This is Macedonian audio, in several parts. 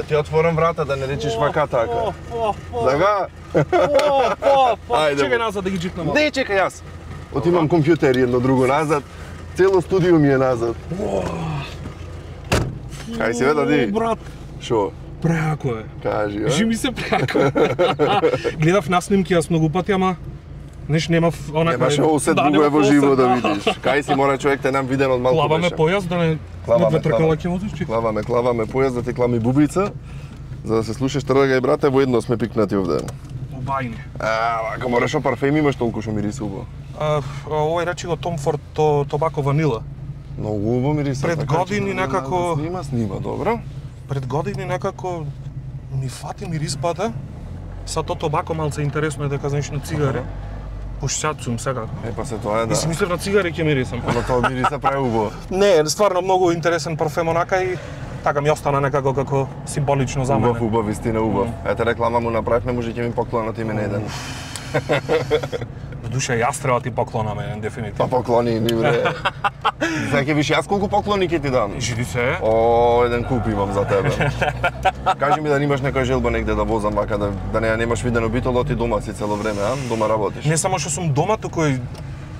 Да ти отворам врата, да не речеш вака така. Така? Чекај назад да ги джитнам. Не, чекај јас. Отимам компјутер и едно друго назад. Цело студио ми е назад. Кај си, дади? Брат. Шо? Преако е. Кажи, а? Кажи ми се преако. Гледав на снимки јас многу пати, ама немав онака. Немаше осет друго е во живо да видиш. Кај си мора човек те нам виден од малку беше. Клаваме појас да не ветркала ќе возиш. Клаваме појас да ти клами бубица. За да се слушаш тргај брате, воедно сме пикнати овде. Обајни. Вака мораш парфем имаш толку што мириси убаво. Овој речи го Tom Ford Tobacco Vanilla. Многу убаво мириси. Пред години некако Снима, добро. Пред години некако ми фати мириспата. Са то тобако малце интересно е дека знаеш на цигари. Пушчат сум сега. Па се тоа е да. И си мислев на цигари ќе мирисам. Ама тоа мириса прави убаво. Не, стварно многу интересен парфем онака и така ми остана некако како символично за мене. Убав, вистина убав. Ете реклама му направивме, може ќе ми поклонат име на еден. В душа јас треба ти поклонам еден дефинитивно. Па поклони ни бре. Сега ќе виш јас колку поклони ќе ти дам. Живи се. О, еден куп имам за тебе. Кажи ми да немаш некоја желба негде да возам вака да немаш видено битолот и дома си цело време, а? Дома работиш. Не само што сум дома, туку и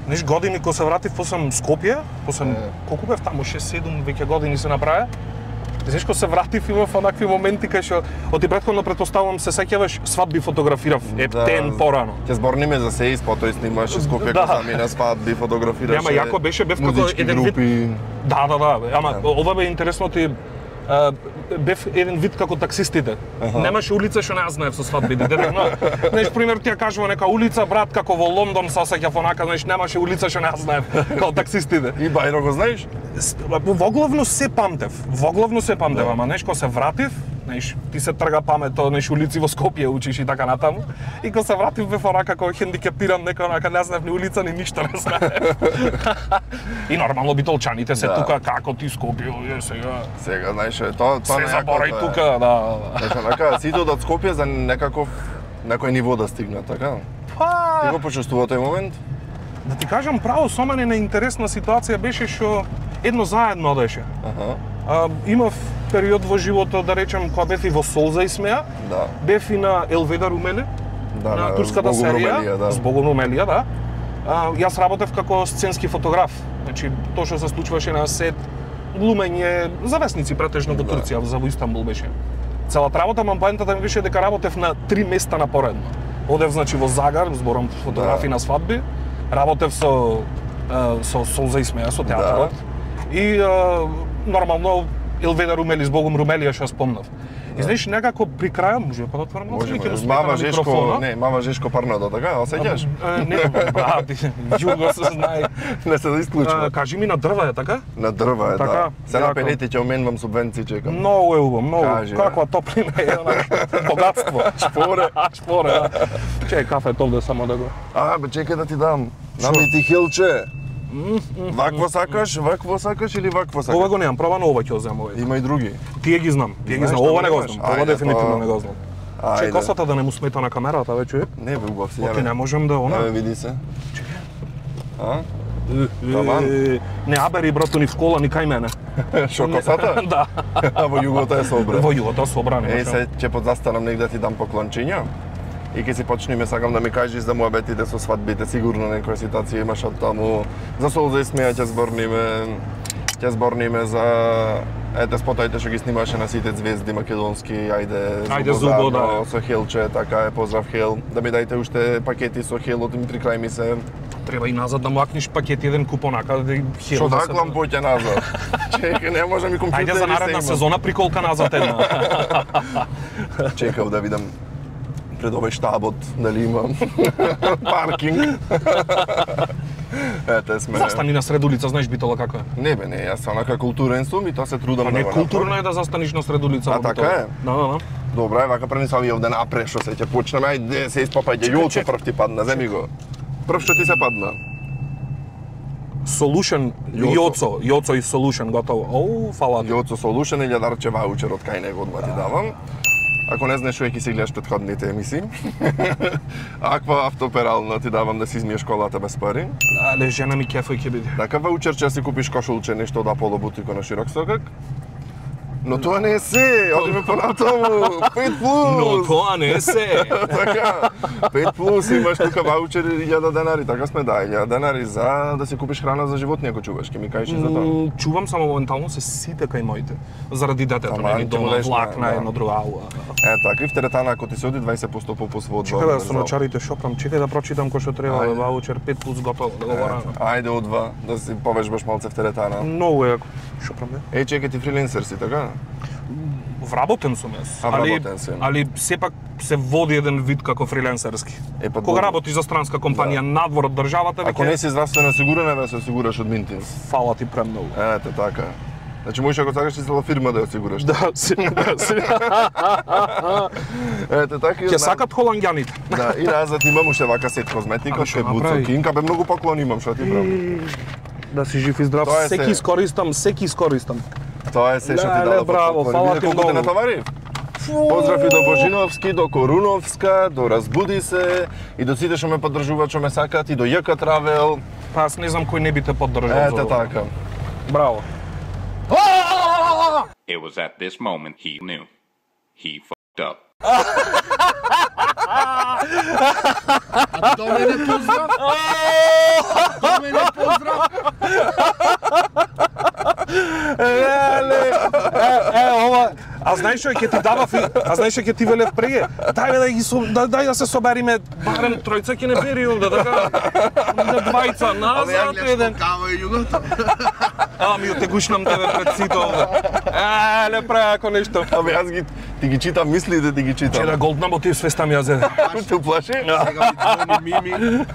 неш години кога се вратив после Скопје, после колку бев таму 6-7 веќе години се направи. Знаеш, кога се вратив имав онакви моменти кај што оти претходно претпоставувам се сеќаваш свадби фотографирав ептен порано. Ќе зборниме за се потоа снимаш Скопје кога замина свадби фотографираш. Ама јако беше бев како еден вид. Да, ама ова бе интересно ти бев еден вид како таксистите. Немаше улица што не ја знаев со свадбите. Знаеш, пример ти ја кажува нека улица, брат, како во Лондон се осеќав онака, знаеш, немаше улица што не ја знаев како таксистите. И Бајро го знаеш? Воглавно се памтев, ама знаеш, кога се вратив, знаеш, ти се трга памето, знаеш, улици во Скопје учиш и така натаму. И кога се вратив бев онака како хендикепиран, нека онака не знаев ни улица, ни ништо не знаев. И нормално битолчаните се тука како ти Скопје, сега. Сега, знаеш, тоа се заборај тука, да. Знаеш, онака сите од Скопје за некој ниво да стигнат, така? Ти го почувствува тој момент? Да ти кажам право, со мене на интересна ситуација беше што едно заедно одеше. Имав период во животот, да речем, кога бев и во Солза и Смеа, бев и на Елведа Румеле, на турската серија, Збогом Румелија, да. Јас работев како сценски фотограф. Значи, тоа што се случуваше на сет, глумење, завесници претежно во Турција, за во Истанбул беше. Целата работа, ама поентата ми беше дека работев на 3 места напоредно. Одев, значи, во Загар, зборам фотографи на свадби, работев со Солза и Смеа, со театрот. И нормално Елведа Румели, Збогом Румелија што спомнав. И знаеш, некако при крајот, може па да отворам малку и ќе Мама Жешко, не, Мама Жешко Парнадо, така, осеќаш? Не, брат, југо се знае. Не се да исклучува. Кажи ми на дрва е, така? На дрва е, да. Се на пенети ќе оменувам субвенции, чекам. Многу е убаво, многу. Каква топлина е, богатство. Шпоре. Чекај кафе овде само да го. Бе, чекај да ти дам. Нами ти хилче. Вакво сакаш или вакво сакаш? Ова го немам, проба на ова ќе земам овој. Има и други. Тие ги знам. Ова не го знам. Ова дефинитивно не го знам. Че косата да не му смета на камерата, ве човек? Не бе, убав си. Оти не можем да она. Види се. Не абери брато ни в кола, ни кај мене. Шо косата? Да. Во југото е собран. Во југото собран. Се ќе подзастанам негде ти дам поклончиња. И ќе си почнеме, сакам да ми кажеш за муабетите со свадбите, сигурно некоја ситуација имаш од таму. За Солза и Смеа ќе зборниме за спотаите што ги снимаше на сите звезди македонски, ајде Зубо, да. Со Хелче, така е, поздрав Хел. Да ми дајте уште пакети со Хел, од при крај ми се. Треба и назад да макниш пакет еден купон, ака да Хел. Што даклам поќе назад? Чекај, не може ми компјутер. Ајде за наредна сезона приколка назад една. Чекав да видам пред овој штабот дали имам паркинг. Ете сме. Застани на сред улица, знаеш Битола како е? Не бе, не, јас онака културен сум и тоа се трудам да го направам. Не, културно е да застаниш на сред улица. Така е? Да. Добра, вака пренеса ви овде напред што се ќе почнеме, ајде се испапајте. Јоцо прв ти падна, земи го. Прв што ти се падна? Solution, Јоцо и Solution, готово. Оу, фала. Јоцо Solution или дарче ваучер од кај него одма ти давам. Ако не знаеш, ќе си гледаш претходните емисии. Аква автоперално ти давам да си измиеш колата без пари. Але жена ми кефој ќе биде. Така ваучер ќе си купиш кошулче, нешто од Аполо бутико на широк сокак. Но тоа не е се, одиме понатаму, 5+. Но тоа не е се. Така, 5+, имаш тука ваучери 1000 денари, така сме да, 1000 денари за да си купиш храна за животни ако чуваш, ке ми кажеш и за тоа. Чувам само моментално се сите кај моите, заради детето, нели дома влак на едно друго ауа. Така, и в теретана ако ти се оди 20% попус во одвор. Чекај да со ночарите шопрам, чекај да прочитам кој што треба, ваучер 5+ готово, да го барам. Ајде од 2, да си повежбаш малце в теретана. Многу јако. Шопрам, бе. Чекај, ти фрилансер си, така? Вработен сум јас, али сепак се води еден вид како фриленсерски. Кога работиш за странска компанија надвор од државата, ако не си здравствено осигурен, да се осигураш од Минтинс. Фала ти премногу. Ете така. Значи можеш ако сакаш и цела фирма да ја осигураш. Да, Ете така. Ќе сакат холанѓаните. Да, и назад имам уште вака сет козметика, што е буцокинка, бе многу поклони имам, што ти правам. Да си жив и здрав, секи искористам. Тоа е се што ти дала. Браво, фала ти многу. Колку те натовари? Поздрави до Божиновски, до Коруновска, до Разбуди се и до сите што ме поддржуваат, што ме сакаат и до ЈК Travel. Па аз не знам кој не би те поддржал. Ете така. Браво. It was at this moment he knew. He fucked up. До мене поздрав! До мене поздрав! Ова, а знаеш што ќе ти давав, а знаеш што ќе ти велев преге? Дај да се собериме, барем тројца ќе не бери овде, така. Двајца назад, еден. Кава и југото. Ами отегушнам тебе пред сите овде. Ле преко нешто. Абе јас ти ги читам мислите, ти ги читам. Че да голднам ти свестам јазе. Те уплаши? Сега ми звони Мими.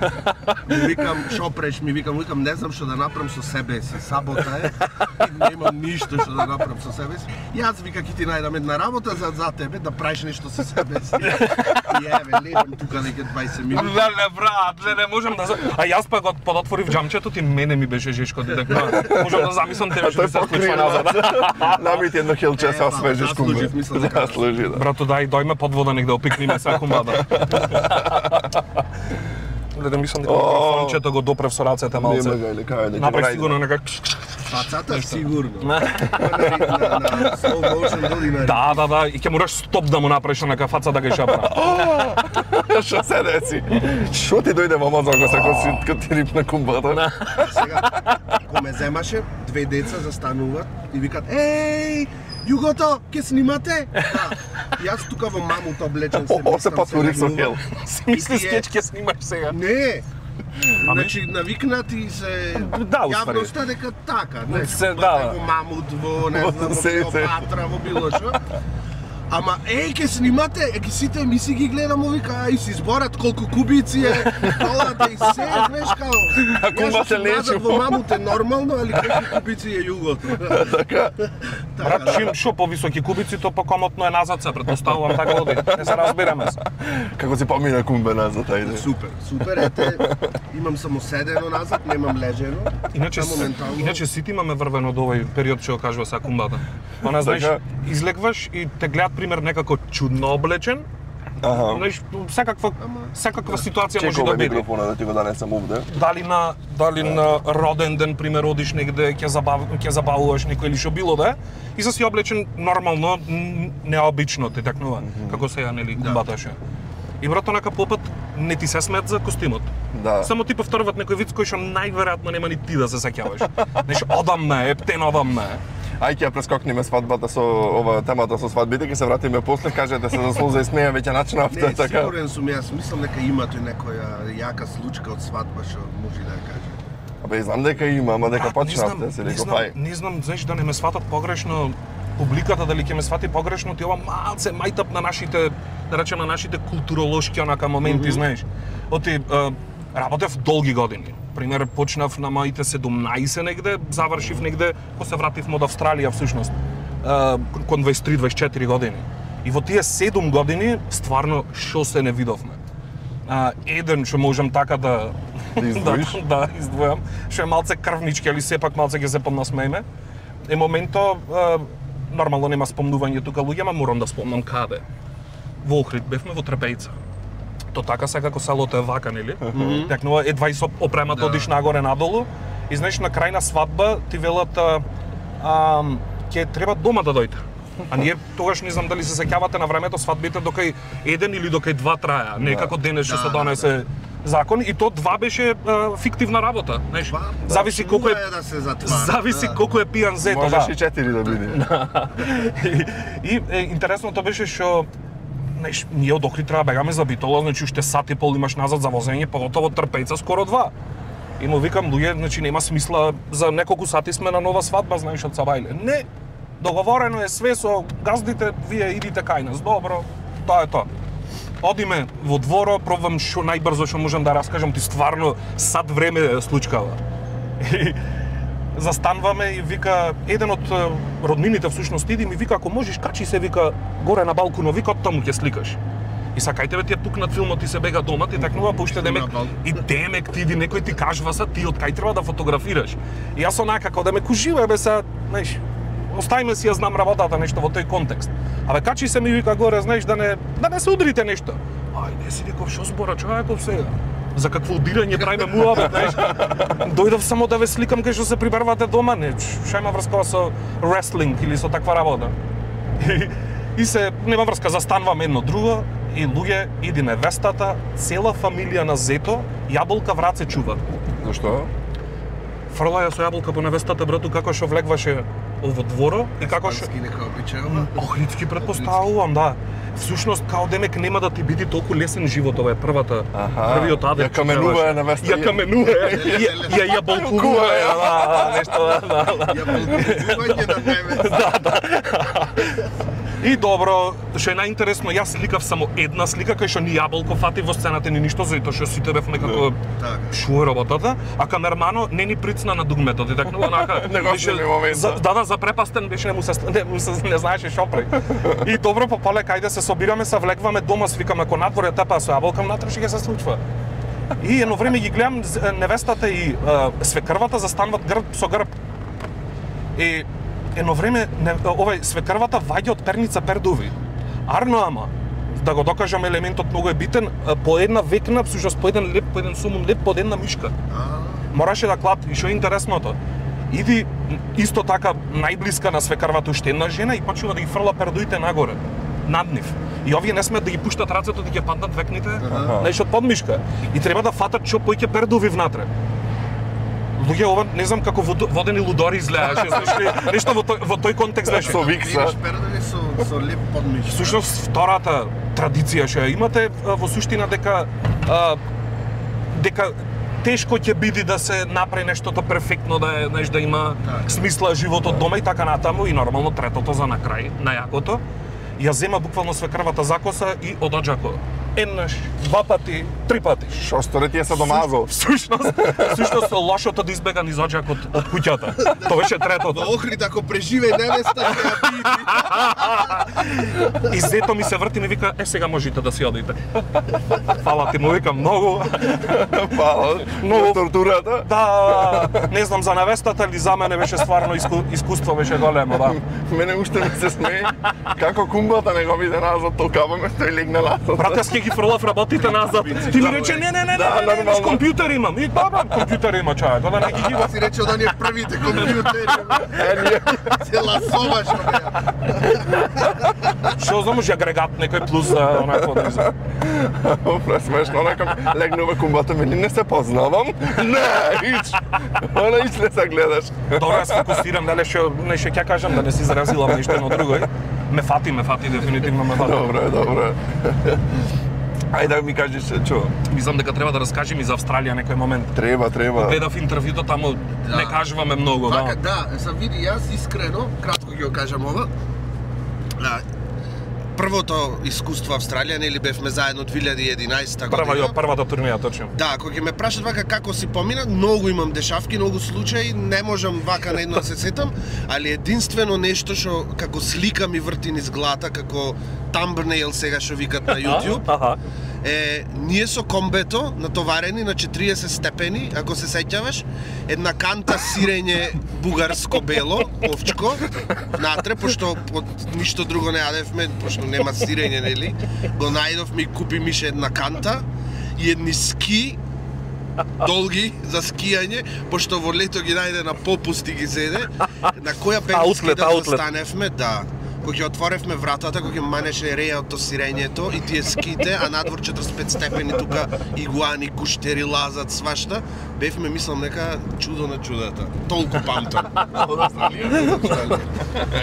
Ми викам, шо преш, ми викам, не знам што да направам со себе си. Сабота е. Немам ништо што да направам со себе си. Јас вика ќе ти најдам една работа за тебе да правиш нешто со себе си. И еве, левам тука дека 20 минути. Леле брат, не можам да. А јас па го подотворив џамчето, ти мене ми беше жешко дека можам да замислам тебе што се случува назад. Намити едно хелче со свежиш кумба. Да, служи, да. Брато, дојме под вода негде, опикниме се кумбада. Да мислам дека микрофончето го допрев со рацете малце. Нема га или кај да. Направи сигурно нека. Пацата сигурно. На slow motion доли на. Да, и ќе мораш стоп да му направиш на кафаца да ga шапра. Што се деси? Што ти дојде во мозок кога ти рипна кумбата? Сега, кога ме земаше, две деца застануваат и викат: "Еј, Југото, ке снимате?" Да. Јас тука во мамута облечен се. О, се патурив со хел. Си мисли скеч ќе снимаш сега. Не. Значи навикнати се јавноста дека така, не да. Во мамут, во не знам, во Клеопатра, во било што. Ама ке снимате, ги сите емисии ги гледам, вика, и си зборат колку кубици е, колата и се, знаеш као. А кумбата нечу. Во мамут е нормално, али колку кубици е југото. Така. Брат, чим шо повисоки кубици, то покомотно е назад се, предпоставувам така оди. Не се разбираме се. Како си помина кумбе назад, ајде. Супер, ете, имам само седено назад, немам лежено. Иначе сите имаме врвено до овој период што кажува са кумбата. Она знаеш, излегваш и те гледат пример некако чудно облечен. Знаеш, секаква ситуација може да биде. Микрофона да ти го донесам овде. Дали на роден ден пример одиш негде ќе забавуваш некој или што било да е и си облечен нормално, необично ти такнува. Како сега нели кумбата ше. И брато нака попат не ти се смеат за костимот. Да. Само ти повторуват некој виц кој што најверојатно нема ни ти да се сеќаваш. Знаеш, одамме, ептен одамме. Ај ќе прескокнеме свадбата со ова темата со свадбите, ќе се вратиме после, кажете се за слоза и смеја веќе начинавте така. Не, сигурен сум, јас мислам дека има тој некоја јака случка од свадба што може да ја каже. Абе, знам дека има, ама дека почнавте, се реков ај. Не знам, знаеш, да не ме сватат погрешно публиката, дали ќе ме свати погрешно, ти ова малце мајтап на нашите, да речем, на нашите културолошки онака моменти, знаеш. Оти работев долги години. Пример, почнав на моите 17 негде, завршив негде, кога се вратив од Австралија всушност, кон 23-24 години. И во тие 7 години, стварно, шо се не видовме. Еден што можам така да издвојам, што е малце крвнички, али сепак малце ќе се поднасмееме, е моментот, нормално нема спомнување тука луѓе, ама морам да спомнам каде. Во Охрид бевме во Трпејца. То така секако селото е вака, нели? Текнува едва и со опремата одиш нагоре надолу и знаеш на крај на свадба ти велат ќе треба дома да дојде. А ние тогаш не знам дали се сеќавате на времето свадбите докај еден или докај два траја, не како денес што се донесе закон и то два беше фиктивна работа, знаеш. Зависи колку е да се затвара. Зависи колку е пијан зето, да. Можеш и 4 да биде. И интересното беше што знаеш, ние од Охрид треба бегаме за Битола, значи уште сат и пол имаш назад за возење, поготово Трпејца скоро 2. И му викам, луѓе, значи нема смисла, за неколку сати сме на нова свадба, знаеш, од Сабајле. Не, договорено е све со газдите, вие идите кај нас, добро, тоа е тоа. Одиме во дворо, пробвам што најбрзо што можам да раскажам, ти стварно сат време случкава. И застанваме и вика, еден од роднините всушност иди ми вика, ако можеш качи се, вика, горе на балконот, вика, таму ќе сликаш. И сакај тебе ти е тук над филмот и се бега дома, ти такнува, па уште демек, и демек ти иди, некој ти кажува са, ти од кај треба да фотографираш. И јас онака, како да ме кужива, бе са, знаеш, оставиме си, ја знам работата, нешто во тој контекст. Абе, качи се ми вика горе, знаеш, да не се удрите нешто. Ајде си, реков, шо збора човеков сега? За какво удирање правиме муабет, знаеш? Дојдов само да ве сликам кај што се прибервате дома, не, што има врска со wrestling или со таква работа. И се, нема врска, застануваме едно друго, и луѓе, иди невестата, цела фамилија на зето, јаболка врат се чува. Зашто? Фрла ја со јаболка по невестата, брату, како што влегваше во дворо и како што... Испански нека обичајува. Охридски предпоставувам, да. Всушност, као демек нема да ти биде толку лесен живот, ова е првиот адет. Ја каменува невеста. Ја каменува, ја јаболкува, нешто, да. Јаболкување на невеста. Да. И добро, што е најинтересно, јас сликав само една слика кај што ни јаболко фати во сцената ни ништо, затоа што сите бевме како шо е работата, а камермано не ни прицна на дугмето, ти такно онака беше да запрепастен беше, не знаеше шо прави. И добро попале кајде се собираме, се влегваме дома, свикаме ако надвор ја тепа со јаболка, внатре ќе се случува. И едно време ги гледам невестата и свекрвата застануваат грб со грб. И едно време овај свекрвата ваѓа од перница пердови. Арно ама, да го докажам елементот многу е битен, по една векна, всушност по еден леп, по еден сумун леп, по една мишка. Мораше да клати. И што е интересното? Иди исто така најблиска на свекрвата уште една жена и почнува да ги фрла пердуите нагоре, над нив. И овие не смеат да ги пуштат рацето да ги паднат векните, знаеш, од подмишка. И треба да фатат што поќе пердови внатре. Луѓе, ова не знам како водени лудори изгледаше, нешто во тој контекст беше. Со викса. Пердови со леп подмишка. Всушност, втората традиција што ја имате во суштина дека тешко ќе биде да се направи нештото перфектно, да е, знаеш, да има смисла животот дома и така натаму, и нормално третото за на крај, најакото. Ја зема буквално свекрвата закоса и одоџако. Еднаш, два пати, три пати. Шо сторе ти е се домазал? Всушност лошото да избега низ оџакот од куќата. Тоа беше третото. Во Охрид ако преживе невеста, ќе ја биде. И зето ми се врти и ми вика, сега можете да си одите. Фала ти, му викам многу. Фала. Многу тортурата. Да, не знам за невестата или за мене беше стварно искуство беше големо, да. Мене уште ми се смее како кумбата не го биде назад, толкава тој легна назад. Брат, јас ќе ги фрлав работите назад. Ти ми рече, не, с компјутер имам. И добро, компјутер има човек, да не ги гива. Си рече да ни првите компјутери. Се ласоваш од неа. Што знам, агрегат некој плюс за онако да иза. Пресмешно, онака легнува кумбата ми, не се познавам. Не, ич. Она ич не се гледаш. Добро, јас фокусирам, дали што ќе кажам да не си заразилам нешто едно друго. Ме фати, дефинитивно ме фати. Добро. Ајде да ми кажеш што? Мислам дека треба да раскажем и за Австралија некој момент. Треба. Гледав интервјуто, таму не кажуваме многу, да. Да, са види, јас искрено, кратко ќе го кажам ова. Првото искуство Австралија, нели бевме заедно 2011 година. Првата турнеја, точно. Да, кога ќе ме прашат вака како си помина, многу имам дешавки, многу случаи, не можам вака на едно да се сетам, али единствено нешто што како слика ми врти низ глата, како thumbnail сега што викат на YouTube. Ние со комбето натоварени на 40 степени, ако се сеќаваш, една канта сирење бугарско бело, овчко, внатре, пошто ништо друго не јадевме, пошто нема сирење, нели? Го најдовме и купи Мише една канта и едни ски долги за скијање, пошто во лето ги најде на попусти ги зеде, на која бенски да застаневме, да. Кога ќе отворевме вратата, кога ќе манеше рејото сирењето и тие ските, а надвор 45 степени тука игуани, куштери лазат свашта, бевме мислам нека чудо на чудата. Толку памтам. Од Австралија.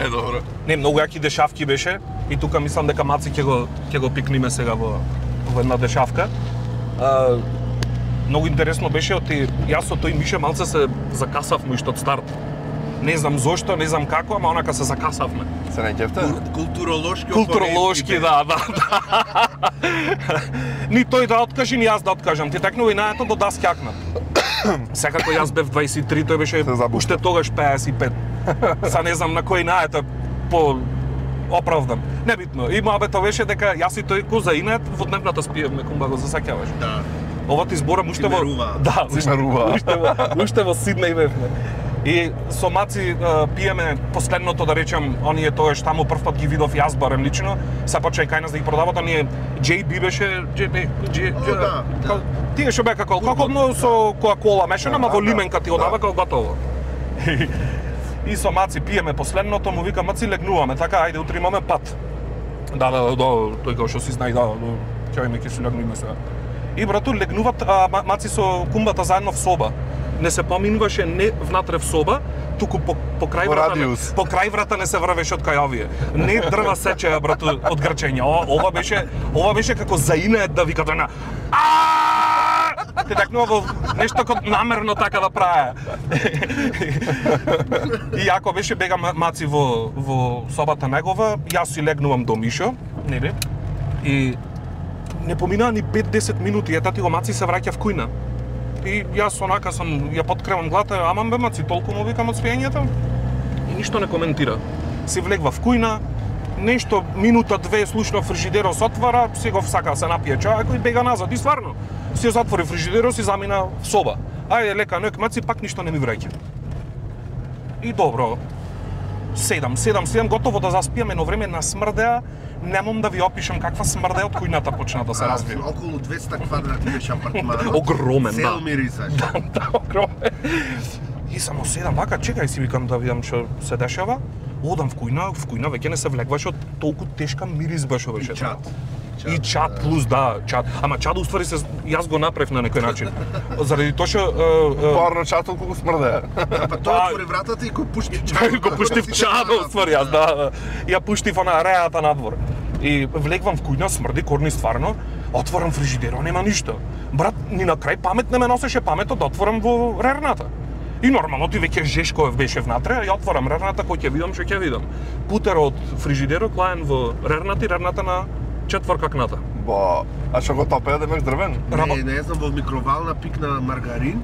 Добро. Не, многу јаки дешавки беше и тука мислам дека Маци ќе го пикниме сега во една дешавка. Многу интересно беше оти јас со тој Мише малце се закасавме уште од старт. Не знам зошто, не знам како, ама онака се закасавме. Се не ќефте? Културолошки, да. Ни тој да откаже, ни јас да откажам. Ти текнува и наето до да скјакнат. Секако јас бев 23, тој беше уште тогаш 55. Са не знам на кој наето по оправдан. Небитно. И моабето беше дека јас и тој ко за инет во дневната спиевме, кумба го засеќаваш. Да. Ова ти зборам уште во... Да, уште во Сиднеј бевме. И со Маци пиеме последното, да речем, оние тоа што таму прв пат ги видов јас барем лично, се почеј кај нас да ги продават, оние JB беше, тие што беа како со Кока-кола мешана, ама во лименка ти одава како готово. И со Маци пиеме последното, му вика Маци легнуваме, така ајде утре имаме пат. Да, тој како што си знај, ќе ме ќе се легнуваме сега. И брату легнуват Маци со кумбата заедно в соба. Не се поминуваше не внатре в соба, туку по крај врата. По крај врата не се врвеше од кај овие. Не дрва сечеа брату од грчење. Ова беше како заинет да викат на Те такнува во нешто како намерно така да праве. И јако беше бега Маци во собата негова, јас си легнувам до Мишо, нели? И не поминаа ни 5-10 минути, ета ти го Маци се враќа в кујна. И јас онака сам ја подкревам глата, ама бе Маци, толку му викам од спиењето. И ништо не коментира. Си влегва в кујна, нешто минута две слушно фрижидерот се отвара, си го сака се напие чај, кој бега назад и стварно си затвори фрижидерот, си замина в соба. Ајде лека ноќ Маци, пак ништо не ми враќа. И добро. 7, готово да заспиам, едно време насмрдеа, немам да ви опишам каква смрде од кујната почна да се развива. Околу 200 квадрати беше апартманот. Огромен, Цел мирисаш. Да, огромен. И само седам вака, чекај си викам да видам што се дешава. Одам в кујна веќе не се влегваше од толку тешка мирис беше беше. И чат плюс чат. Ама чат уствари се јас го направив на некој начин. Заради тоа што парно чат колку смрде. Па тоа отвори вратата и го пушти чат. Го пушти в чат уствари јас, да. Ја пуштив на реата надвор. И влегвам в кујна, смрди корни стварно. Отворам фрижидерот, нема ништо. Брат, ни на крај памет не ме носеше паметот да отворам во рерната. И нормално ти веќе Жешков беше внатре, ја отворам рерната, кој ќе видам, што ќе видам. Путерот од фрижидерот клаен во рерната и рерната на четворка кната. Ба, а што го топеа да имаш дрвен? Не знам, во микровална пикна маргарин.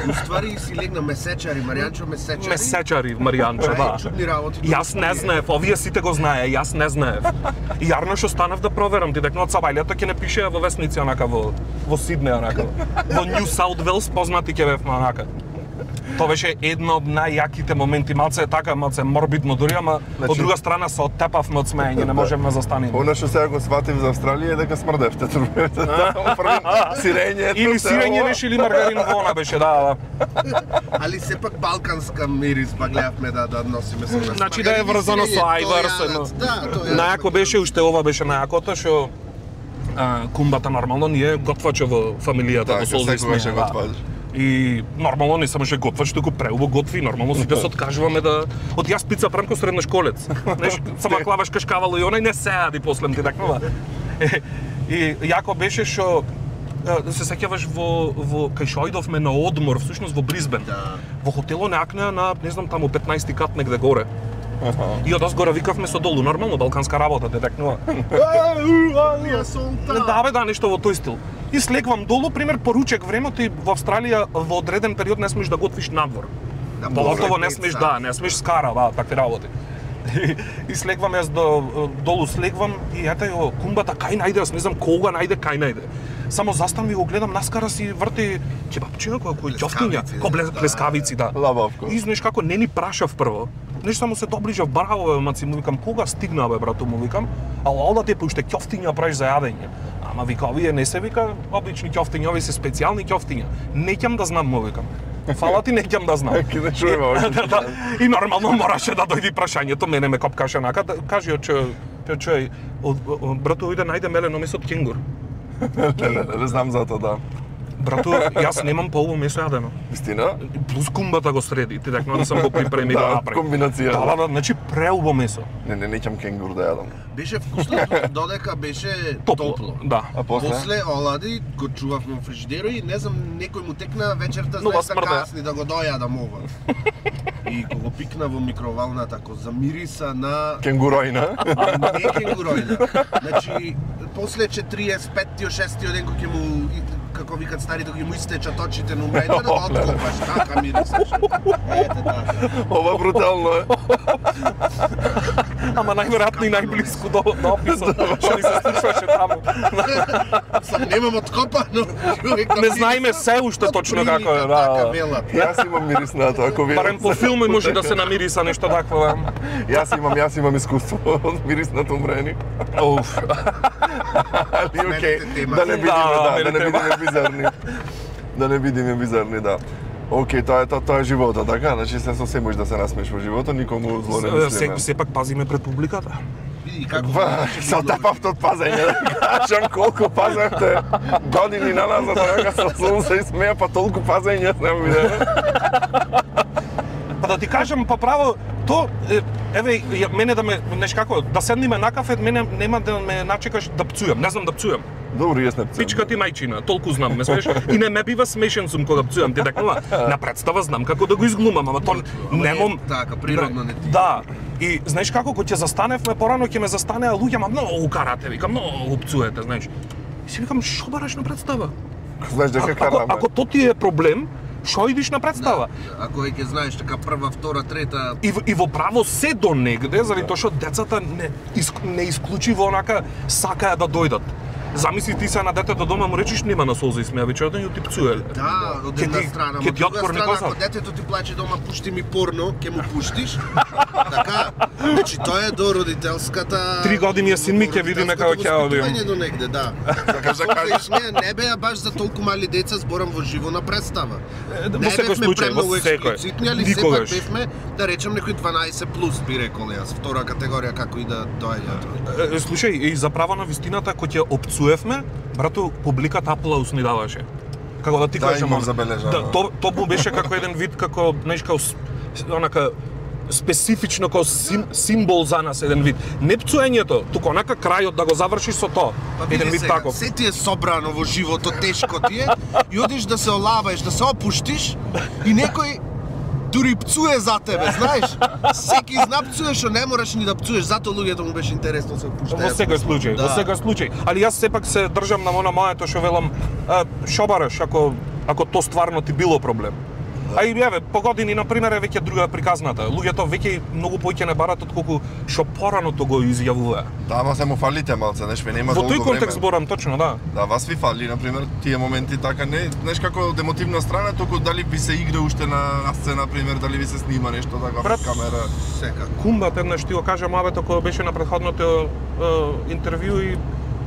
Уствари си легна месечари, Маријанчо месечари. Месечари, Маријанчо, да. Чудни работи. Јас не знаев, овие сите го знае, јас не знаев. И јарно што станав да проверам, ти дека од Сабајлето ќе не пише во весници онака во Сиднеј онака. Во Нью Саут Велс познати ќе бевме онака. Тоа беше едно од најјаките моменти, малце е така, малце морбидно дури, ама од друга страна се оттепавме од смеење, не можеме да застанеме. Она што сега го сватив за Австралија е дека смрдевте турбевте. Сирење. Или сирење беше или маргарин во она беше, да. Али сепак балканска мирис па гледавме да носиме со нас. Значи да е врзано со ајвар, најако беше уште ова беше најакото што кумбата нормално ние готваче во фамилијата, во Солза. И нормално не само што готваш, туку преубо готви, нормално сите се откажуваме да... Од јас пица правам како средношколец. Знаеш, само клаваш кашкавало и онај не се јади после ти такнува. И јако беше што се сеќаваш во кај што ојдовме на одмор, всушност во Брисбен. Во хотело некнеа на, не знам, таму 15-ти кат негде горе. И од озгора викавме со долу, нормално балканска работа, те такнува. Да, нешто во тој стил. И слегвам долу, пример, поручек времето и во Австралија во одреден период не смеш да готвиш надвор. Поготово не смеш, не смеш скара, такви работи. И слегвам јас долу слегвам и ета ја кумбата кај најде, јас не знам кога најде, кај најде. Само заставам и го гледам, наскара си врти кебапчиња, кој ќофтиња, кој плескавици, да. Лабавко. И знаеш како не ни прашав прво. Нешто само се доближав, браво, Маци, му викам, кога стигна, бе, брато, му викам, ала да те уште ќофтиња правиш за јадење. Ама вика, овие не се вика обични ќофтиња, овие се специјални ќофтиња. Не ќам да знам, му викам. Фала ти, неќам да знам. Ке не чуеме още. И нормално мораше да дојде прашањето, мене ме копкаше нака, кажи чој, брато, иде најде мелено месо од кенгур. Не знам за тоа, да. Брато, јас немам полово месо јадено. Вистина? Плюс кумбата го среди, ти дека не сам го припреми да направи. Комбинација. Да, значи преубаво месо. Неќам кенгур да јадам. Беше вкусно додека беше топло. Да. А После олади го чувавме во фрижидерот и не знам, некој му текна вечерта Нова знаеш смрда. касни да го дојадам ова. И кога го пикна во микровалната, ко замириса на Кенгуројна. не кенгуројна. Значи после 45-тиот 6-тиот ден кога ќе му како викат старите, кога ќе му истечат очите на умрејте, да откопаш, така мирисаш. Ете така. Ова брутално е. Ама најверојатно и најблиску до описот, што ни се случваше таму. Сам немам откопано. Не знаеме се уште точно како е, Така да. велат. Јас имам мирис на тоа, ако вие. Барем по филми може да се намириса нешто такво. Јас имам искуство од мириснат умрени. Уф. Али окей, Смените тема. да не бидеме, Да, да не бидеме бизарни. Да не бидеме бизарни, да. Окей, тоа е животот, така? Значи се можеш да се насмеш во животот, никому зло не мислиме. Сепак пазиме пред публиката. Види како Со тапавтот пазење, да кажам колку пазевте години на назад, дека со сум се смеја, па толку пазење не видеме. Па да ти кажам па право, еве мене да ме неш како да седниме на кафе, мене нема да ме начекаш да пцујам, не знам да пцујам. Добро, јас не пцујам. Пичка ти мајчина, толку знам, ме смееш? И не ме бива смешен сум кога пцујам, ти дека на представа знам како да го изглумам, ама тоа немам така природно не ти. Да. И знаеш како кога ќе застаневме порано ќе ме застанеа луѓе, ама многу карате, викам, многу пцуете, знаеш. И си викам, шо бараш на представа? Знаеш дека караме. Ако тоа ти е проблем, шо идиш на представа? Ако ќе знаеш така прва, втора, трета, И во право се до негде, заради тоа што децата не исклучиво онака сакаат да дојдат. Замисли ти се на детето дома му речиш нема на солза и смеа вечерта и ти пцуеле. да, од една страна, ќе ти од друга отпорни страна, коза. ако детето ти плаче дома, пушти ми порно, ќе му пуштиш. Така, значи тоа е до родителската 3 години е син ми, ќе видиме како ќе одиме. воспитување до негде, да. Сакаш да кажеш? Смеја не беа баш за толку мали деца, зборам во живо на представа. Во Не секој бевме случај, во премногу секој. експлицитни, али сепак Никогаш. бевме, да речем, некои 12 плюс, би рекол јас, втора категорија како и да доаѓаат. Слушај, и за право на вистината, кога ќе опцуевме, брато, публиката аплауз ни даваше. Како да ти Да, кажам, имам забележано. Да, тоа му беше како еден вид, како, знаеш, како онака специфично како символ за нас еден вид. Не пцуењето, туку онака крајот да го завршиш со тоа. Еден вид таков. Се ти е собрано во животот, тешко ти е, и одиш да се олаваеш, да се опуштиш, и некој дури пцуе за тебе, знаеш? Секи зна пцуе, што не мораш ни да пцуеш, затоа луѓето му беше интересно се опуштаат. Во секој случај, Да. во секој случај. Али јас сепак се држам на она моето што велам, шо бараш ако тоа стварно ти било проблем. А и еве, по години на пример е веќе друга приказната. Луѓето веќе многу поиќе не барат отколку што порано тоа го изјавуваа. Да, ама се му фалите малце, знаеш, ве нема Во долго тој контекст време. зборам точно, да. Да, вас ви фали, на пример, тие моменти така не, знаеш како од емотивна страна, туку дали ви се игра уште на сцена, на пример, дали ви се снима нешто така Брат, во камера. Секако. Кумбат еднаш ти го кажа мавето кој беше на претходното интервју и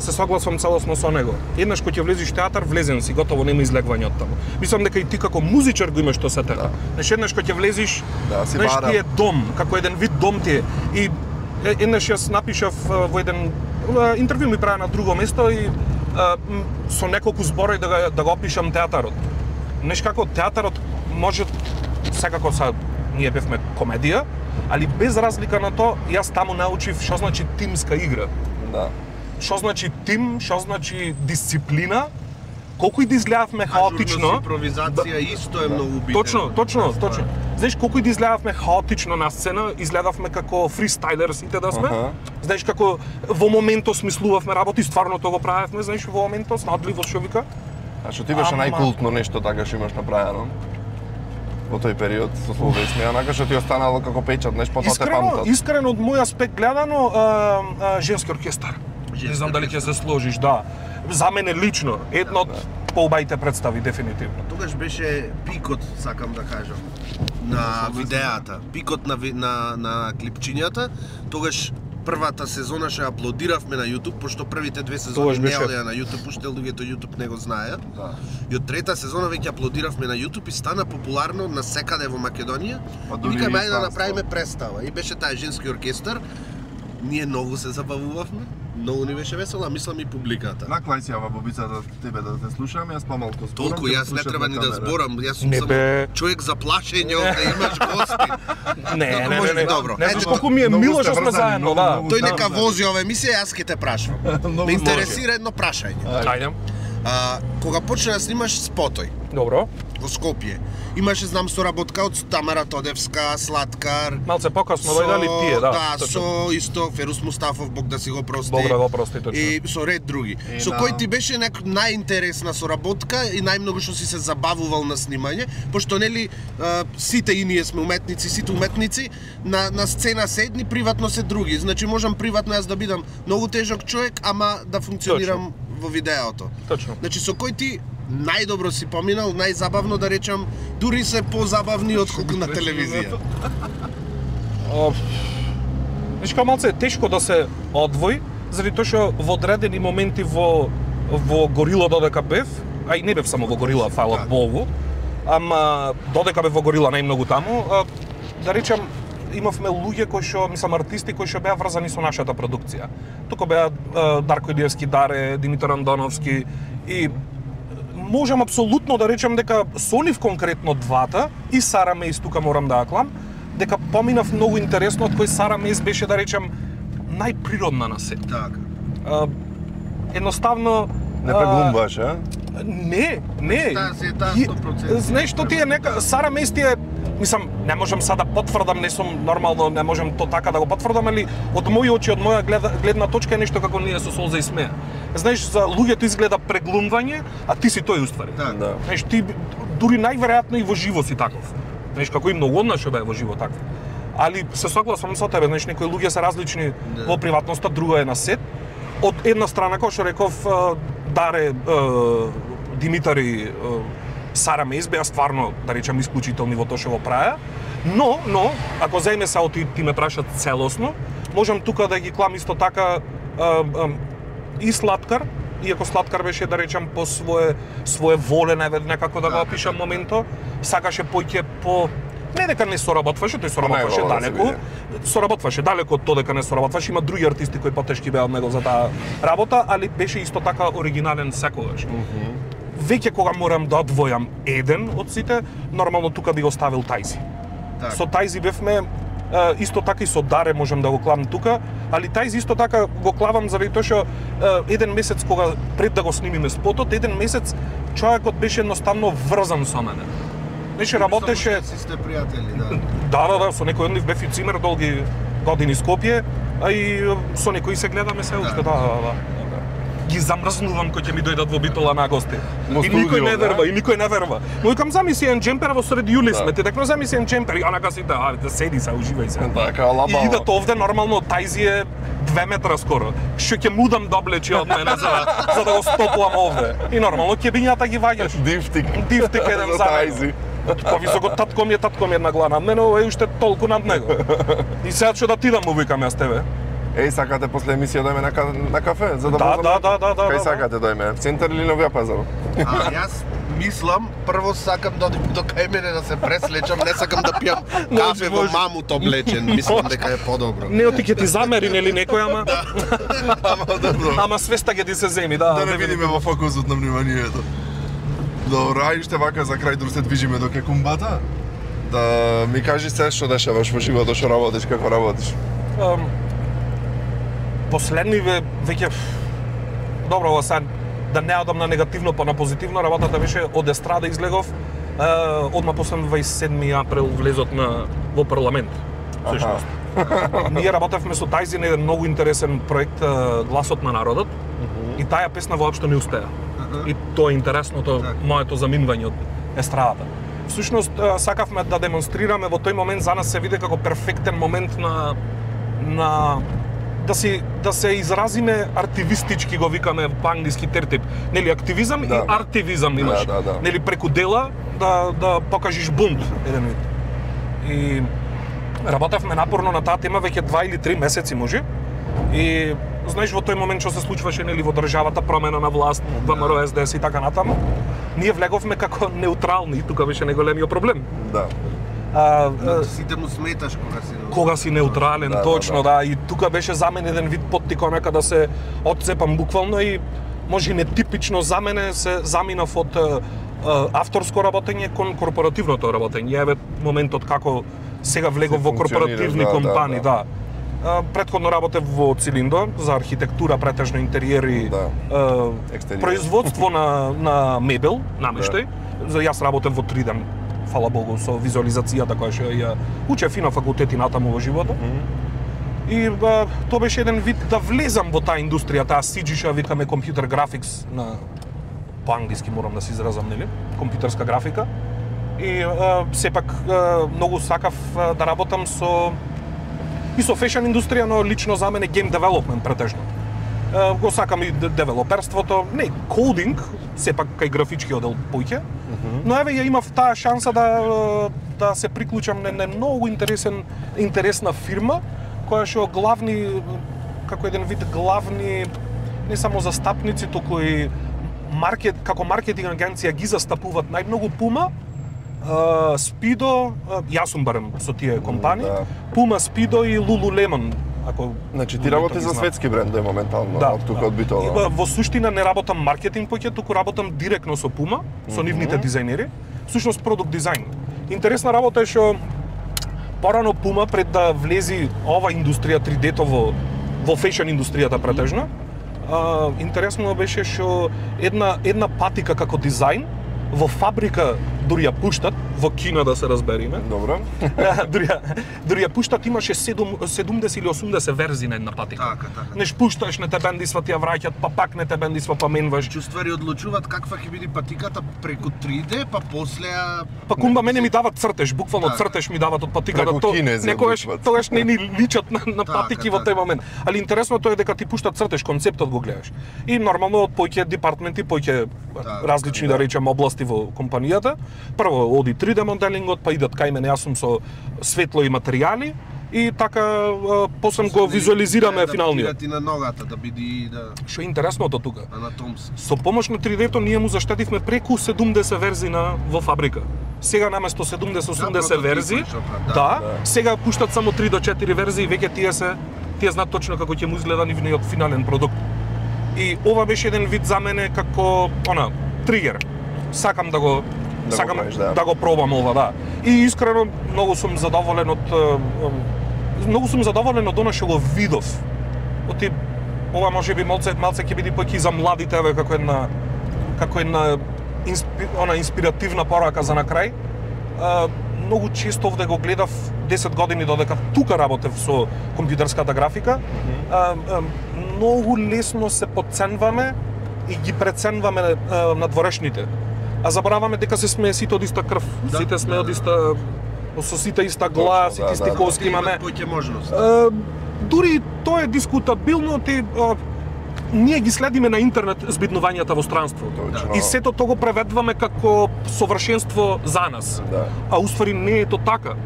се согласувам целосно со него. Еднаш кога ќе влезеш театар, влезен си, готово нема излегвање од таму. Мислам дека и ти како музичар го имаш тоа се така. Знаеш, еднаш кога ќе влезеш, Да, си знаеш, барам. ти е дом, како еден вид дом ти е. И еднаш јас напишав во еден интервју ми правя на друго место и со неколку зборои да го опишам театарот. Знаеш како театарот може секако ние бевме комедија, али без разлика на тоа, јас таму научив што значи тимска игра. Да. Што значи тим, што значи дисциплина, колку и да изгледавме хаотично. Ажурност, импровизација исто е многу битно. Точно. Знаеш, колку и да изгледавме хаотично на сцена, изгледавме како фристайлер сите да сме. Знаеш, како во моментот смислувавме работи, стварно тоа го правевме, знаеш, во моментот, снадливо што вика. А што ти беше Ама- најкултно нешто така што имаш направено? Во тој период со Слова и смеја, онака што ти останало како печат, знаеш, потоа те памтат. Искрено од мој аспект гледано, женски оркестар. Не знам дали ќе се сложиш, да. За мене лично, една од поубавите представи, дефинитивно. Тогаш беше пикот, сакам да кажам, на видеата, пикот на клипчињата. Тогаш првата сезона што ја аплодиравме на YouTube, пошто првите 2 Тогаш сезони не беше. одеа на YouTube, уште луѓето YouTube не го знаеат. Да. И од трета сезона веќе аплодиравме на YouTube и стана популарно на секаде во Македонија. Па И дури викаме и ајде да странство. направиме представа. И беше таа женски оркестар. Ние многу се забавувавме. Многу ни беше весело, а мислам и публиката. Наклај си, ава бобица, да тебе да те слушам, јас помалку зборам. Толку ќе те јас не слушам треба на ни да камера. зборам, јас сум Не само бе. човек за плашење овде, имаш гости. Не, Може би не. добро. Не Ето, знаеш колку ми е многу мило сте што сме врзани, заедно, многу, да. многу. Тој Да, нека да. вози ова емисија, јас ќе те прашувам. Многу Ме интересира едно прашање. Ајде. Кога почна да снимаш спотој Добро. во Скопје, имаше знам соработка од Тамара Тодевска, Слаткар, Малце покасно дојдали тие, да. да, точно. со исто Ферус Мустафов, Бог да си го прости. Бог да го прости, точно. И со ред други. Со да. кој ти беше најинтересна соработка и најмногу што си се забавувал на снимање, пошто нели сите и ние сме уметници, сите уметници на сцена се едни, приватно се други. Значи можам приватно јас да бидам многу тежок човек, ама да функционирам во видеото. Точно. Значи со кој ти најдобро си поминал, најзабавно да речам, дури се позабавни отколку на телевизија. Знаеш како малце е тешко да се одвои, заради тоа што во одредени моменти во Горила додека бев, а и не бев само во Горила, фала Богу, ама додека бев во Горила најмногу таму, да речам, имавме луѓе кои што, мислам, артисти кои што беа врзани со нашата продукција. Тука беа Дарко Илиевски Даре, Димитар Андоновски и можам апсолутно да речам дека со нив конкретно двата и Сара Мејс тука морам да ја клам, дека поминав многу интересно, од кој Сара Мејс беше да речам најприродна на сет. Така. Едноставно Не преглумбаш, а? Не. Таа си е таа И- 100%. Знаеш што ти е нека Сара Мејс ти е, мислам, не можам сада потврдам, не сум нормално, не можам то така да го потврдам, али од мои очи, од моја гледна точка е нешто како ние со солза и смеа. Знаеш, за луѓето изгледа преглумвање, а ти си тој уствари. Да. Да. Знаеш, ти дури најверојатно и во живо си таков. Знаеш, како и многу од нас што беа во живо таков. Али се согласувам со тебе, знаеш, некои луѓе се различни во приватноста, друга е на сет. Од една страна, како што реков, Даре, Димитар и Сара Мејс беа стварно, да речам, исклучителни во тоа што го правеа. Но, ако заеме се ти ме прашат целосно, можам тука да ги клам исто така и Слаткар, иако Слаткар беше, да речам, по свое воле, некако да го опишам моменто, сакаше поќе по не дека не соработваше, тој соработваше Не, да се далеко. биде. Соработваше далеко од тоа дека не соработваше. Има други артисти кои потешки беа од него за таа работа, али беше исто така оригинален секогаш. Веќе кога морам да одвојам еден од сите, нормално тука би го ставил Тајзи. Така. Со Тајзи бевме исто така и со Даре можам да го клам тука, али Тајзи исто така го клавам заради тоа што еден месец кога пред да го снимиме спотот, еден месец човекот беше едноставно врзан со мене. Неше работеше. Си сте пријатели, да. Да, со некој од нив бев и цимер долги години Скопје, а и со некои се гледаме се уште, да. Ги замрзнувам кои ќе ми дојдат во Битола на гости. Во И никој студио, не да? верва, и никој не верва. Му викам замисли еден джемпер во сред јули сме, ти дека замисли еден джемпер, и онака сите, да седи се, уживај се. Така, лаба. И идат овде нормално Тајзи е 2 метра скоро. Што ќе мудам да облечи од мене за да го стопувам овде. И нормално кебињата ги ваѓаш. Дифтик. Дифтик еден за мене. Тајзи. Повисоко татко ми е една глава над мене, ова е уште толку над него. И сега што да ти да му викам јас тебе? Еј, сакате после емисија дојме на кафе, за да Да, возаме? да. Кај Да. сакате дојме? В центар или Новиот пазар? Јас мислам, прво сакам да одим до кај мене да се преслечам, не сакам да пијам кафе во може. мамут облечен, мислам дека е подобро. Не ти ќе ти замери нели некој, ама Ама добро. ама свеста ќе ти се земи, да. Да не видиме во фокусот на вниманието. Добро, ај уште вака за крај дур се движиме до Кекумбата. Да ми кажи се што дешаваш во животот, што работиш, како работиш. Последниве веќе добро ова сега да не одам на негативно, па на позитивно, работата беше од естрада излегов. Одма после 27 април влезот во парламент. Всушност. Ние работевме со Тајзи на еден многу интересен проект Гласот на народот. И таа песна воопшто не успеа. И тоа е интересното, моето заминување од естрадата. Всушност сакавме да демонстрираме во тој момент, за нас се виде како перфектен момент на да се изразиме артивистички, го викаме по англиски тертип. Нели активизам и артивизам имаш. Да. Нели преку дела да покажеш бунт еден вид. И работевме напорно на таа тема веќе 2 или 3 месеци може. И знаеш во тој момент што се случваше нели во државата, промена на власт, ВМРО, СДС и така натаму, ние влеговме како неутрални, тука беше најголемиот проблем. Да. Сите му сметаш кога си неутрален, точно, да. И тука беше за мене еден вид поттик онака да се отцепам буквално и може нетипично за мене се заминав од авторско работење кон корпоративното работење. Еве моментот како сега влегов во корпоративни компании, да. Претходно работев во Цилиндо за архитектура, претежно интериери, производство на мебел, намештај. Јас работев во 3 ден, фала Богу, со визуализацијата која што ја учев и на факултети натаму во животот. И тоа беше еден вид да влезам во таа индустрија, таа CG што викаме компјутер графикс на по англиски морам да се изразам, нели? Компјутерска графика. И сепак многу сакав да работам со фешн индустрија, но лично за мене гейм девелопмент претежно. Го сакам и девелоперството, не кодинг, сепак кај графички одел поќе. Но еве ја имав таа шанса да се приклучам на многу интересна фирма која што главни, како еден вид главни не само застапници, туку и како маркетинг агенција ги застапуваат најмногу Puma, Speedo, јас сум барем со тие компании, Puma, Speedo и Lululemon. Значи ти работиш за светски брендови моментално, од тука од Битола. Во суштина не работам маркетинг поќе, туку работам директно со Puma, со нивните дизајнери, всушност продукт дизајн. Интересна работа е што порано Puma пред да влези ова индустрија 3D-то во фешн индустријата претежно, интересно беше што една патика како дизајн во фабрика дури ја пуштат, во Кина да се разбериме. Добро. дури ја пуштат, имаше 70 или 80 верзии на една патика. Така. Неш пушташ, не те бендисва, ти ја враќат, па пак не те бендисва, па менваш. Чувствари одлучуваат каква ќе биде патиката преку 3D, па после Па кумба мене ми дават цртеж, буквално цртеж ми дават од патиката. Некогаш тогаш не ни личат на патики во тој момент. Али интересното е дека ти пуштат цртеж, концептот го гледаш. И нормално од поќе департменти, поќе различни да речем области во компанијата. Прво оди 3D моделингот, па идат кај мене, јас сум со светло и материјали и така после го визуализираме финалниот. Да на ногата да биде Што е интересното тука? Анатомски. Со помош на 3D-то ние му заштедивме преку 70 верзии во фабрика. Сега наместо 70-80 верзии, сега пуштат само 3 до 4 верзии, веќе тие знаат точно како ќе му изгледа нивниот финален продукт. И ова беше еден вид за мене како тригер. Сакам да го пробам ова, да. И искрено многу сум задоволен од она што го видов. Ова можеби малце ќе биде поќе за младите, како една инспиративна порака за на крај. Многу често овде го гледав 10 години додека тука работев со компјутерската графика. Многу лесно се подценваме и ги преценваме надворешните. А забораваме дека се сме сите од иста крв, сите сме од иста, со сите иста глас, сите исти коски имаме. Дури тоа е дискутабилно, ние ги следиме на интернет збиднувањата во странство. И сето тоа го преведуваме како совршенство за нас. А уствари не е тоа така.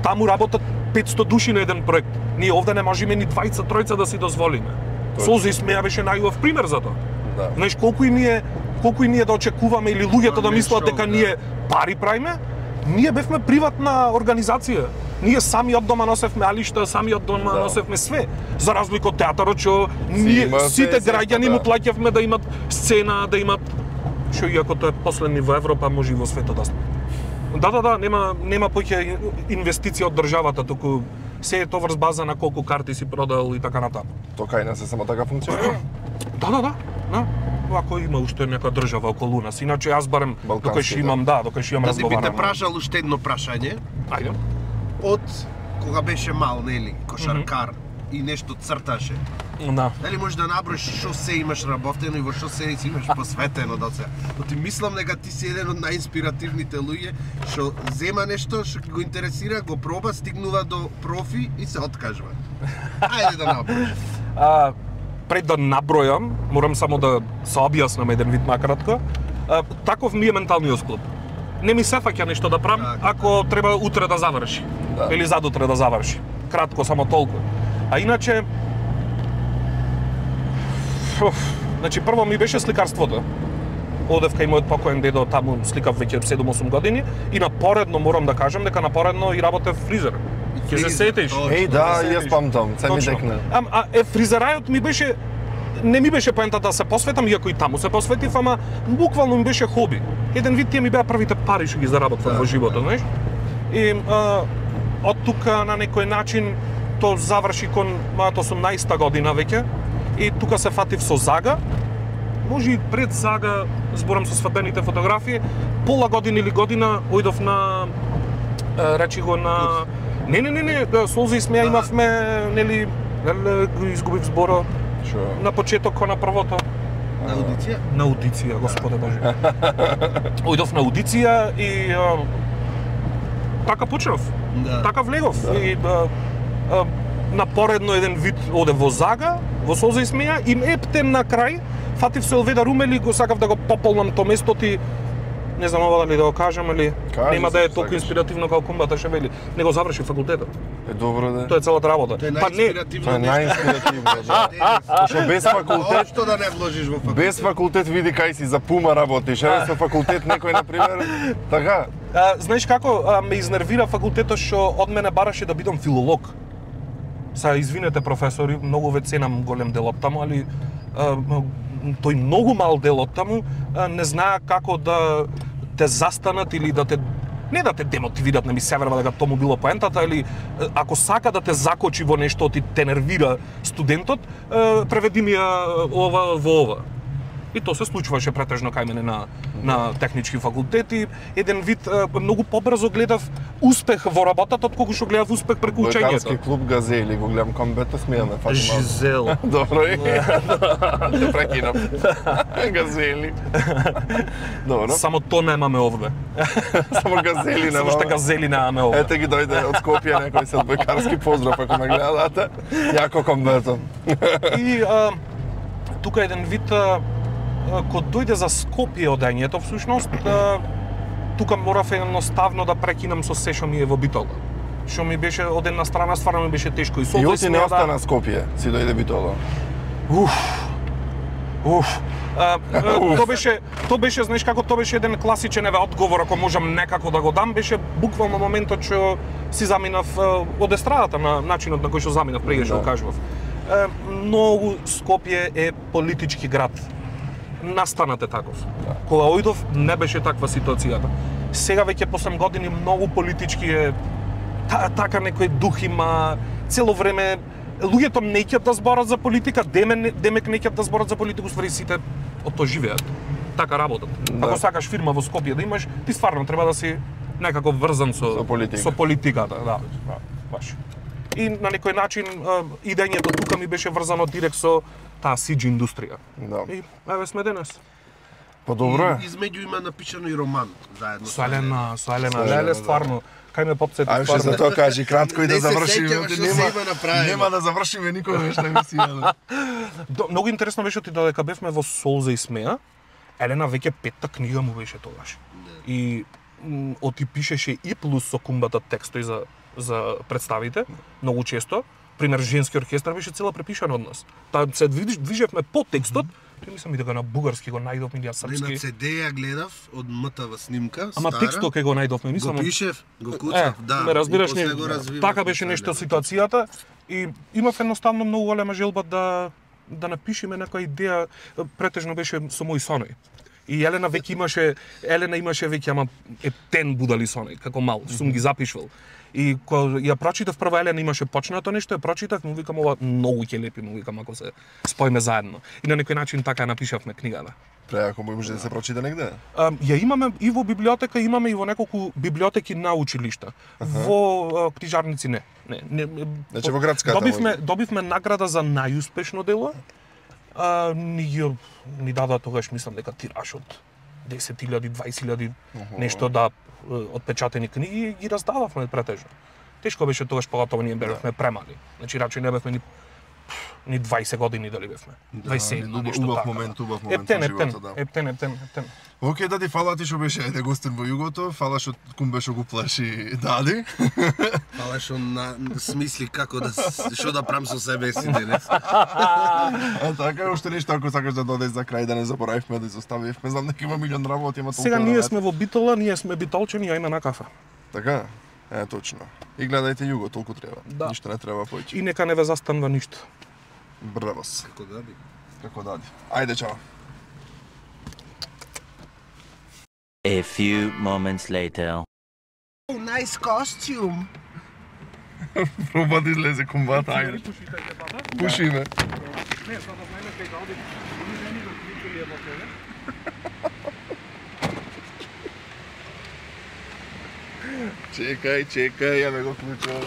Таму работат 500 души на еден проект. Ние овде не можеме ни 20-тројца да си дозволиме. Солза и смеја беше најубав пример за тоа. Знаеш колку и ние да очекуваме или луѓето да мислат дека ние пари правиме, ние бевме приватна организација. Ние сами од дома носевме алишта, сами од дома носевме све. За разлика од театарот што ние сите граѓани му плаќавме да имат сцена, да имат што иако тоа е последни во Европа, може и во светот да сме. Да, нема поќе инвестиција од државата, туку се е тоа врз база на колку карти си продал и така натаму. Тоа кај нас е само така функционира? Да. Ако има уште нека држава околу нас, иначе јас барем докај имам разговарам. Да те прашал уште едно прашање. Ајде. Од кога беше мал, нели, кошаркар и нешто црташе. Дали можеш да наброиш што се имаш работено и во што се имаш посветено до сега? Но ти мислам дека ти си еден од најинспиративните луѓе што зема нешто што го интересира, го проба, стигнува до профи и се откажува. Ајде да наброиш. Пред да набројам, морам само да се објаснам еден вид накратко. Таков ми е менталниот склоп. Не ми се фаќа нешто да правам ако треба утре да заврши. Или задутре да заврши. Кратко, само толку. А иначе, Значи прво ми беше сликарството. Одев кај мојот покоен дедо, таму сликав веќе 7-8 години и напоредно морам да кажам дека напоредно и работев фризер. Ќе се сетиш? Еј, да, јас памтам, се ми декна. Фризерајот ми беше не ми беше поентата да се посветам, иако и таму се посветив, ама буквално ми беше хоби. Еден вид тие ми беа првите пари што ги заработвам во животот, знаеш? И од тука на некој начин то заврши кон мојата 18-та година веќе и тука се фатив со Зага. Може и пред Зага, зборам со свадбените фотографии, пола година или година ојдов на речи го на не, Солза и смеа имавме, нели, го изгубив зборо. На почеток на првото. На аудиција? На аудиција, Господе Боже. Ојдов на аудиција и така почнав. Да. Така влегов. И напоредно еден вид оде во Зага, во Солза и смеа и ептен на крај фатив се Елведа Румели, го сакав да го пополнам то место ти. Не знам ова дали да го кажам или нема да е толку инспиративно како Кумбата Шевели. Не го заврши факултетот. Добро да. Тоа е целата работа. Тоа е најинспиративно, да. Што без факултет, што да не вложиш во факултет. Без факултет види кај си за Пума работиш, со факултет некој на пример, така. Знаеш како ме изнервира факултетот што од мене бараше да бидам филолог. Извинете професори, многу ве ценам голем дел од таму, али тој многу мал дел од таму не знаа како да те застанат или да те не да те демотивират, не ми се верува дека тоа му било поентата, или ако сака да те закочи во нешто и те нервира студентот, преведи ми ја ова во ова. И тоа се случуваше претежно кај мене на технички факултети. Еден вид многу побрзо гледав успех во работата отколку што гледав успех преку учењето. Лекарски клуб Газели го гледам комбето, смееме Фатима. Жизел. Добро е. Те прекинам. Газели. Добро. Само тоа немаме овде. Само Газели немаме. Само што Газели немаме овде. Ете ги дојде од Скопје некој се лекарски поздрав ако ме гледате. Јако комбето. И тука еден вид кога дојде за Скопје одењето, всушност, тука морав едноставно да прекинам со се што ми е во Битола. Што ми беше од една страна стварно ми беше тешко и со Јоти не остана Скопје, си дојде Битола. Тоа беше, знаеш како, тоа беше еден класичен одговор, ако можам некако да го дам, беше буквално моментот што си заминав од естрадата на начинот на кој што заминав прега што го кажував. Многу Скопје е политички град. Настанат е таков. Кога ојдов не беше таква ситуацијата. Сега веќе по 8 години многу политички е така некој дух има цело време. Луѓето не ќе да зборат за политика, демек не ќе да зборат за политика, ствари сите од тоа живеат. Така работат. Да. Ако сакаш фирма во Скопје да имаш, ти стварно треба да си некако врзан со политиката, да. Баш. И на некој начин идењето тука ми беше врзано директ со таа сидж индустрија. Да. И еве сме денес. Подобро е. Измеѓу има напишано и роман заедно со Елена. Леле стварно. Кај ме попсети стварно. Ајде за тоа кажи кратко и да завршиме. Нема да завршиме никогаш на емисија. Многу интересно беше ти додека бевме во Солза и смеа. Елена веќе 5-та книга му беше тогаш. И оти пишеше и плюс со Кумбата текстови за представите, многу често. Пример, женски оркестар беше цела препишана од нас. Таа се движевме по текстот, тој мислам и дека на бугарски го најдовме ја српски. На CD ја гледав од МТВ снимка, ама стара. Текстот кај го најдовме, мислам. Го пишев, го куцав, да. Ме разбираш, така беше нешто ситуацијата и имав едноставно многу голема желба да напишеме некоја идеја, претежно беше со мој соној. И Елена имаше веќе ама ептен будали соној, како мал, сум ги запишувал. И кога ја прочитав прва Елена имаше почнато нешто, ја прочитав, му викам ова многу ќе лепи, му викам ако се споиме заедно. И на некој начин така напишавме книгата. Преако може да се прочита негде? Ја имаме и во библиотека, имаме и во неколку библиотеки на училишта. Во книжарници не. Значи во градската. Добивме награда за најуспешно дело. Ни дадоа тогаш, мислам дека тираж од 10.000, 20.000 нешто да отпечатени книги ги раздававме претежно. Тешко беше тогаш, поготово ние бевме премали. Значи рачи не бевме Ни 20 години дали бевме. 21 нешто убав така. момент во Ептен. животот, да. Ептен. Океј, Дади, фала ти што беше ајде гостин во југото, фала што кумбе што го плаши Дади. Фала што смисли како да што да правам со себе си денес. А така, уште нешто ако сакаш да додеш за крај, да не заборавивме да изоставивме, знам дека има милион работи, има толку. Сега ние сме во Битола, ние сме битолчени, ајме на кафе. Така? Точно. И гледајте југо, толку треба. Да. Ништо не треба поиќе. И нека не ве застанува ништо. Бравос. Како Дади. Како Дади. Ајде, чао. A few moments later. Oh, nice costume. Проба да излезе комбата, ајде. Пушиме. Не, за да знаеме кај Дади, не ни го кликали во тебе. Чекај, ја ме го клучо.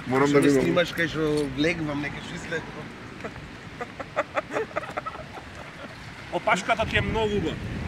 Морам да Што ви ме го... снимаш кај што легвам, нека што след. Опашката ти е многу убава.